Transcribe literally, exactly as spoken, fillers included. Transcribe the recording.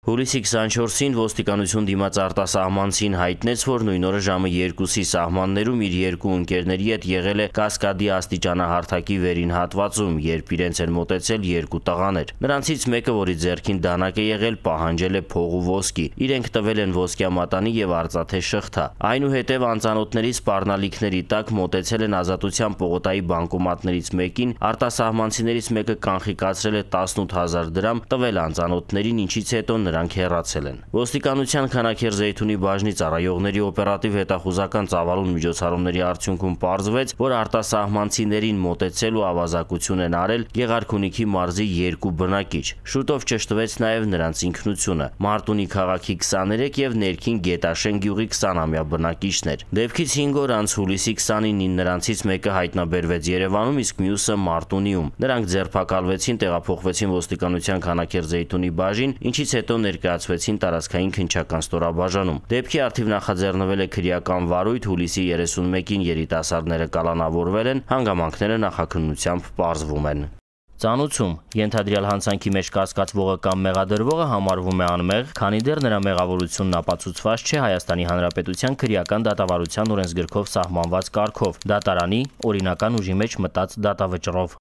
Հուլիսի քսանչորսին ոստիկանություն դիմաց արտասահմանցին հայտնեց, որ նույն օրը ժամը երկուսի սահմաններում իր երկու ընկերների հետ եղել է Կասկադի աստիճանահարթակի վերին հատվածում, երբ իրենց են մոտեցել երկու տղաներ։ Նրանցից մեկը, որի ձեռքին դանակ է եղել, պահանջել է փող ու ոսկի։ Իրենք տվել են ոսկյա մատանի եւ արծաթե շղթա։ Այնուհետև անծանոթների սպառնալիքների տակ մոտեցել են Ազատության պողոտայի բանկոմատներից մեկին, արտասահմանցիներից մեկը կանխիկացրել է տասնութ հազար դրամ, տվել անծանոթներին, ինչից հետո նրանք հեռացել են։ Ոստիկանության Քանաքեռ-Զեյթունի բաժնի ծառայողների օպերատիվ հետախուզական ծավալուն միջոցառումների արդյունքում պարզվեց, որ արտասահմանցիներին մոտեցել ու ավազակություն են արել Գեղարքունիքի մարզի երկու բնակիչ։ Շուտով ճշտվեց նաև նրանց ինքնությունը՝ Մարտունի քաղաքի քսաներեք եւ Ներքին Գետաշեն գյուղի քսանամյա բնակիչներ։ Դեպքից հինգ օր անց հուլիսի քսանինին նրանցից մեկը հայտնաբերվեց Երևանում, իսկ մյուսը Մարտունիում։ Նրանք ձերբակալվեցին, տեղափոխվեցին ոստիկանության Քանաքեռ-Զեյթունի բաժին, ինչից հետո ներկայացվեցին տարածքային քննչական ստորաբաժանում։ Դեպքի առթիվ նախաձեռնվել է քրեական վարույթ, հուլիսի երեսունմեկին երիտասարդները կալանավորվել են, հանգամանքները նախաքննությամբ պարզվում են։ Ծանուցում ենթադրյալ հանցանքի մեջ կասկածվողը կամ մեղադրվողը համարվում է անմեղ, քանի դեռ նրա մեղավորությունն ապացուցված չէ Հայաստանի Հանրապետության քրեական դատավարության օրենսգրքով սահմանված կարգով՝ դատարանի օրինական ուժի մեջ մտած դատավճռով։